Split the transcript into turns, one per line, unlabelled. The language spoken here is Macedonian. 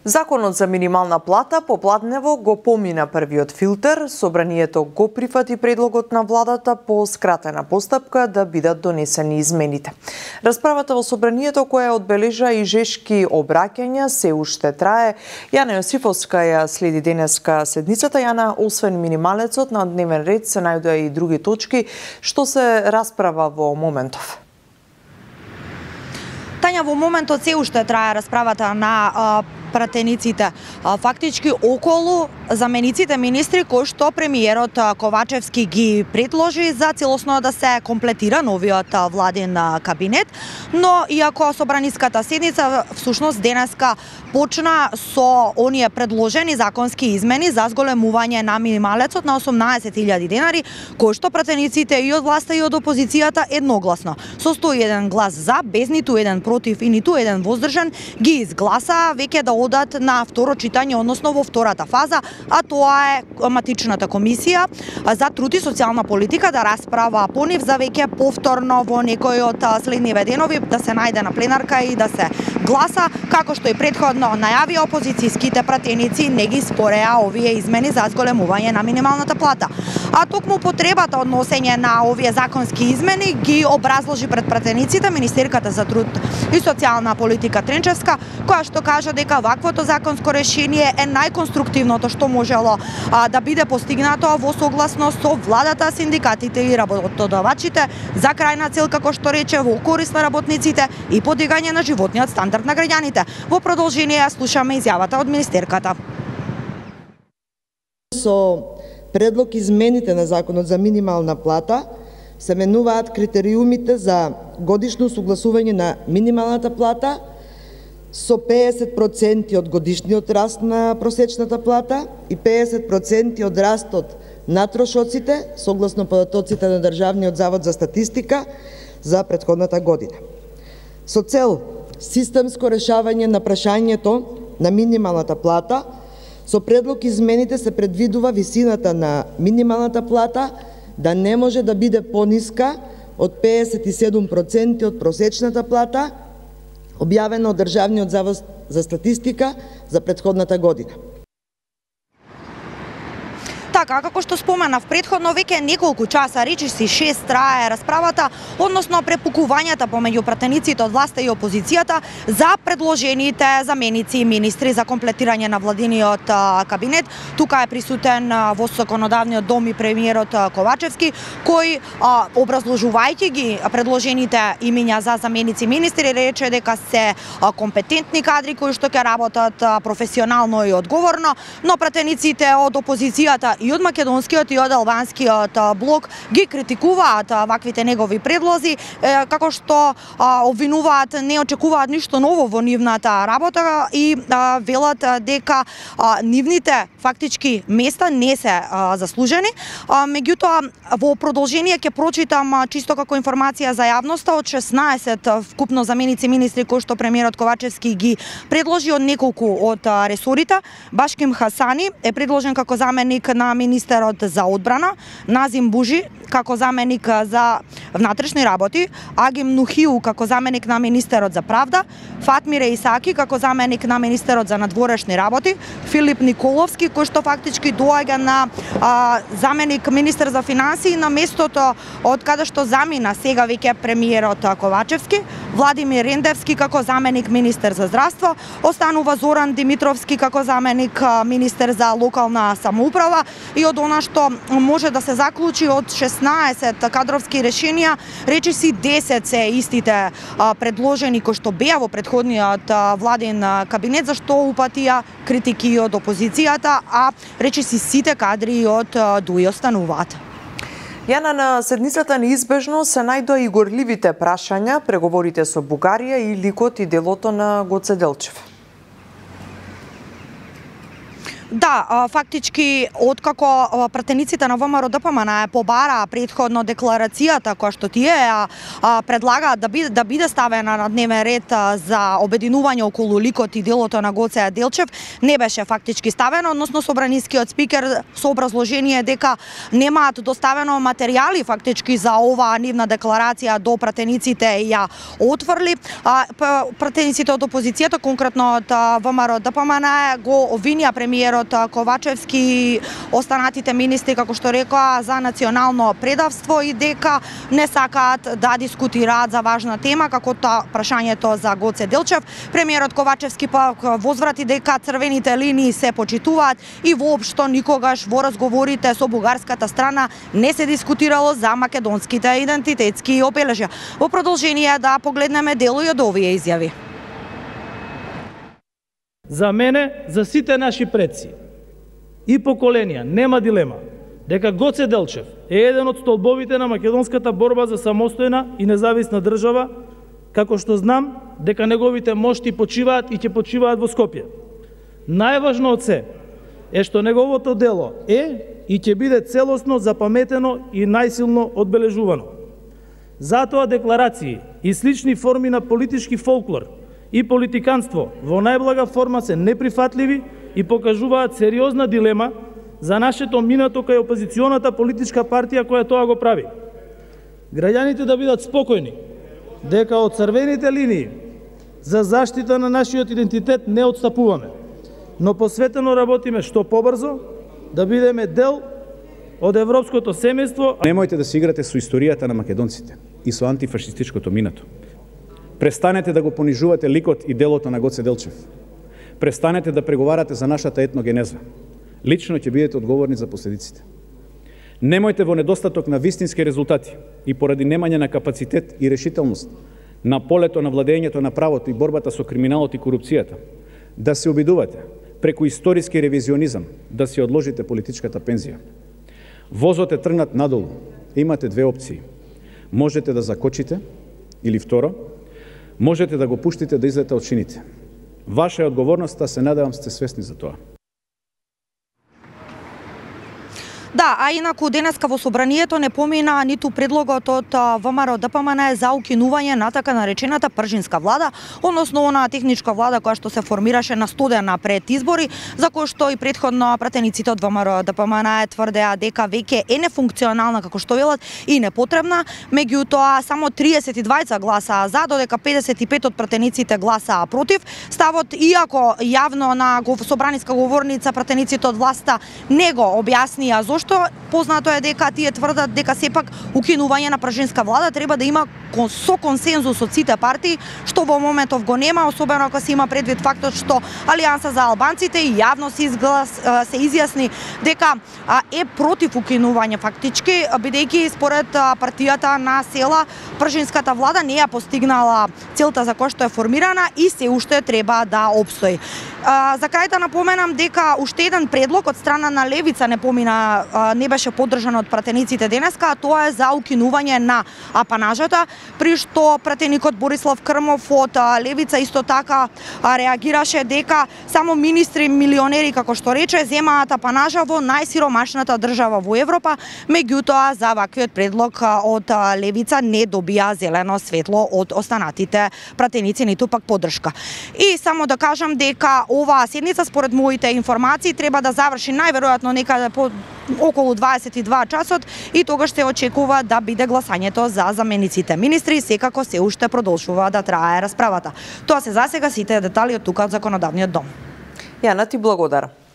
Законот за минимална плата попладнево го помина првиот филтер. Собранието го прифати предлогот на владата по скратена постапка да бидат донесени измените. Расправата во собранието, која одбележа и жешки обраќања, се уште трае. Јана Јосифовска ја следи денеска седницата. Јана, освен минималецот, на дневен ред се најдоа и други точки. Што се расправа во моментов?
Тања, во моментот се уште трае расправата на пратениците. Фактички околу замениците министри кои што премиерот Ковачевски ги предложи за целосно да се комплетира новиот владин кабинет, но иако собраниската седница всушност денеска почна со оние предложени законски измени за зголемување на минималецот на 18.000 денари, кои што пратениците и од власта и од опозицијата едногласно со 101 глас за, без ниту еден против и ниту еден воздржан, ги изгласа веќе да одат на второ читање, односно во втората фаза, а тоа е матичната комисија за труд и социјална политика да расправа по нив за веќе повторно во некој од следниве денови да се најде на пленарка и да се гласа, како што и претходно најавија опозицијските пратеници, не ги спореа овие измени за зголемување на минималната плата. А токму потребата од носење на овие законски измени ги образложи пред пратениците министерката за труд и социјална политика Тренчевска, која што кажа дека ваквото законско решение е најконструктивното што можело да биде постигнато во согласност со владата, синдикатите и работодавачите за крајна цел, како што рече, во корист на работниците и подигање на животниот стандард на граѓаните. Во продолжение слушаме изјавата од министерката.
Со предлог измените на Законот за минимална плата се менуваат критериумите за годишно согласување на минималната плата со 50% од годишниот раст на просечната плата и 50% од растот на трошоците согласно податоците на Државниот завод за статистика за претходната година. Со цел системско решавање на прашањето на минималната плата, со предлог измените се предвидува висината на минималната плата да не може да биде пониска од 57% од просечната плата, објавено од Државниот завод за статистика за претходната година.
Така, како што споменав претходно, веќе неколку часа, речиси 6 трае расправата, односно препукувањата помеѓу пратениците од власта и опозицијата за предложените заменици и министри за комплетирање на владиниот кабинет. Тука е присутен во законодавниот дом и премиерот Ковачевски, кој образложувајќи ги предложените имиња за заменици министри рече дека се компетентни кадри кои што ќе работат професионално и одговорно, но пратениците од опозицијата и од македонскиот и од албанскиот блок ги критикуваат ваквите негови предлози, како што обвинуваат не очекуваат ништо ново во нивната работа и велат дека нивните фактички места не се заслужени. Меѓутоа, во продолжение ќе прочитам чисто како информација за јавноста од 16 вкупно заменици министри кои што премиерот Ковачевски ги предложи од неколку од ресорите. Башким Хасани е предложен како заменик на министерот за одбрана, Назим Бужи како заменик за внатрешни работи, Агим Нухиу како заменик на министерот за правда, Фатмире Исаки како заменик на министерот за надворешни работи, Филип Николовски кој што фактички доаѓа на заменик министер за финансии на местото од каде што замина сега веќе премиерот Ковачевски, Владимир Рендевски како заменик министер за здравство, останува Зоран Димитровски како заменик министер за локална самоуправа и од она што може да се заклучи од 16 кадровски решенија, речиси 10 се истите предложени кои што беа во претходниот владин кабинет, за што упатија критики од опозицијата, а речиси сите кадри од ДУИ остануваат.
Јана, на седницата неизбежно се најдоа и горливите прашања, преговорите со Бугарија и ликот и делото на Гоце Делчев.
Да, фактички откако пратениците на ВМРО ДПМН побара предходно декларацијата која што тие предлагаат да биде ставена на дневен ред за обединување околу ликот и делото на Гоце Делчев, не беше фактички ставено, односно собранискиот спикер со образложение дека немаат доставено материјали фактички за оваа нивна декларација до пратениците ја отфрли. Пратениците од опозицијата, конкретно од ВМРО ДПМН, го обвинија премиерот Ковачевски и останатите министри, како што рекоа, за национално предавство и дека не сакаат да дискутираат за важна тема, како прашањето за Гоце Делчев. Премиерот Ковачевски пак возврати дека црвените линии се почитуваат и воопшто никогаш во разговорите со бугарската страна не се дискутирало за македонските идентитетски обележја. Во продолжение да погледнеме дел и од овие изјави.
За мене, за сите наши предци и поколенија, нема дилема дека Гоце Делчев е еден од столбовите на македонската борба за самостојна и независна држава, како што знам дека неговите мошти почиваат и ќе почиваат во Скопје. Најважно од се е што неговото дело е и ќе биде целосно запаметено и најсилно одбележувано. Затоа декларации и слични форми на политички фолклор и политиканство во најблага форма се неприфатливи и покажуваат сериозна дилема за нашето минато кај опозиционата политичка партија која тоа го прави. Граѓаните да бидат спокојни дека од црвените линии за заштита на нашиот идентитет не отстапуваме, но посветено работиме што побрзо да бидеме дел од европското семејство.
Немојте да се играте со историјата на македонците и со антифашистичкото минато. Престанете да го понижувате ликот и делото на Гоце Делчев. Престанете да преговарате за нашата етногенеза. Лично ќе бидете одговорни за последиците. Немојте во недостаток на вистински резултати и поради немање на капацитет и решителност на полето на владењето на правото и борбата со криминалот и корупцијата да се обидувате преку историски ревизионизам да си одложите политичката пензија. Возот е тргнат надолу. Имате две опции. Можете да закочите или второ, можете да го пуштите да излета од шините. Ваша е одговорноста, се надевам сте свесни за тоа.
Да, а инаку денеска во собранието не помина ниту предлогот од ВМРО ДПМН за укинување на така наречената пржинска влада, односно она техничка влада која што се формираше на студена пред избори, за кој што и претходно пратениците од ВМРО ДПМН тврдеа дека веќе е нефункционална, како што велат, и непотребна. Меѓутоа само 32 гласаа за, додека 55 од пратениците гласаа против. Ставот, иако јавно на собраниска говорница пратениците од власта не го објаснија зошто, познато е дека тие тврдат дека сепак укинување на пржинска влада треба да има со консензус од сите партии, што во моментов го нема, особено ако се има предвид фактот што Алијанса за албанците и јавно се изјасни дека е против укинување фактички, бидејќи според партијата на села пржинската влада не ја постигнала целта за која што е формирана и се уште треба да опстои. За крај да напоменам дека уште еден предлог од страна на Левица не беше поддржан од пратениците денеска, а тоа е за укинување на апанажата, при што пратеникот Борислав Крмов од Левица исто така реагираше дека само министри милионери, како што рече, земаат апанажа во најсиромашната држава во Европа, меѓутоа за ваквиот предлог од Левица не добија зелено светло од останатите пратеници, ниту пак поддршка. И само да кажам дека оваа седница, според моите информации, треба да заврши најверојатно некаде по околу 22 часот и тогаш се очекува да биде гласањето за замениците министри, секако се уште продолжува да трае расправата. Тоа се засега сите детали од тука од Законодавниот дом.
Јана, ти благодарам.